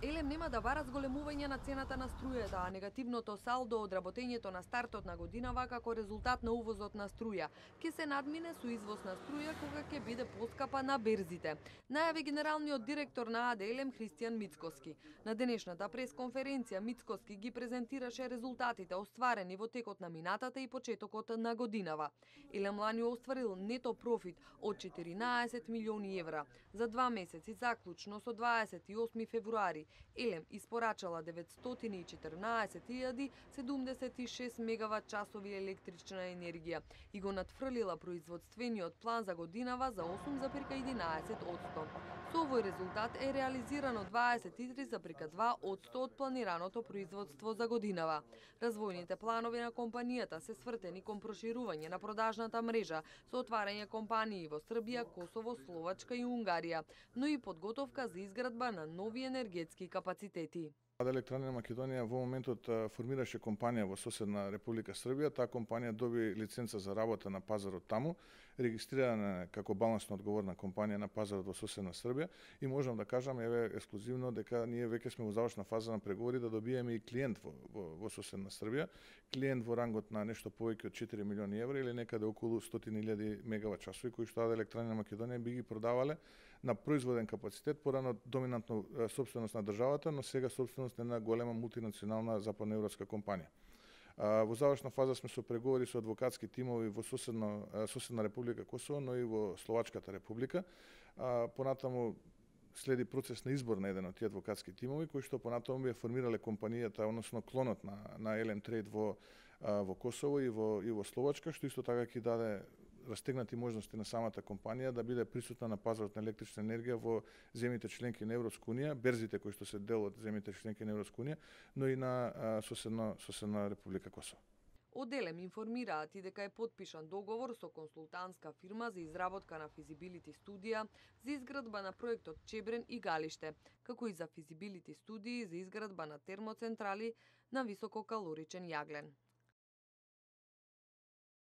Елем нема да бара зголемување на цената на струјата, а негативното салдо од работењето на стартот на годинава како резултат на увозот на струја ќе се надмине со извоз на струја кога ќе биде поскапа на берзите, најави генералниот директор на АД Елем Христијан Мицкоски. На денешната пресконференција Мицкоски ги презентираше резултатите остварени во текот на минатата и почетокот на годинава. Елем лани остварил нето профит од 14 милиони евра. За 2 месеци заклучно со 28 февруари Елем испорачала 914.076 мегават часови електрична енергија и го надфрлила производствениот план за годинава за 8,11%. Со овој резултат е реализирано 23,2% од планираното производство за годинава. Развојните планови на компанијата се свртени кон проширување на продажната мрежа со отварање компании во Србија, Косово, Словачка и Унгарија, но и подготовка за изградба на нови енергетски капацитети. АД Електроенергија Македонија во моментот формираше компанија во соседна Република Србија. Таа компанија доби лиценца за работа на пазарот таму, регистрирана како балансно одговорна компанија на пазарот во соседна Србија и можам да кажам еве ексклузивно дека ние веќе сме во завршна фаза на преговори да добиеме и клиент во соседна Србија, клиент во рангот на нешто повеќе од 4 милиони евра или некаде околу 100.000 мегават часови кои што АД Електроенергија Македонија би ги продавале на производен капацитет, порано доминантно сопственост на државата, но сега сопственост на голема мултинационална западноевропска компанија. Во завршна фаза сме со преговори со адвокатски тимови во соседна Република Косово, но и во Словачката Република. Понатаму следи процес на избор на еден од тие адвокатски тимови, кои што понатаму би формирале компанијата, односно клонот на Елем Трейд во Косово и во Словачка, што исто така ќе даде растегнати можности на самата компанија да биде присутна на пазарот на електрична енергија во земјите членки на Европска унија, берзите кои што се дел од земјите членки на Европска унија, но и на соседна Република Косово. Од Елем информираат и дека е потпишан договор со консултантска фирма за изработка на физибилити студија за изградба на проектот Чебрен и Галиште, како и за физибилити студии за изградба на термоцентрали на висококалоричен јаглен.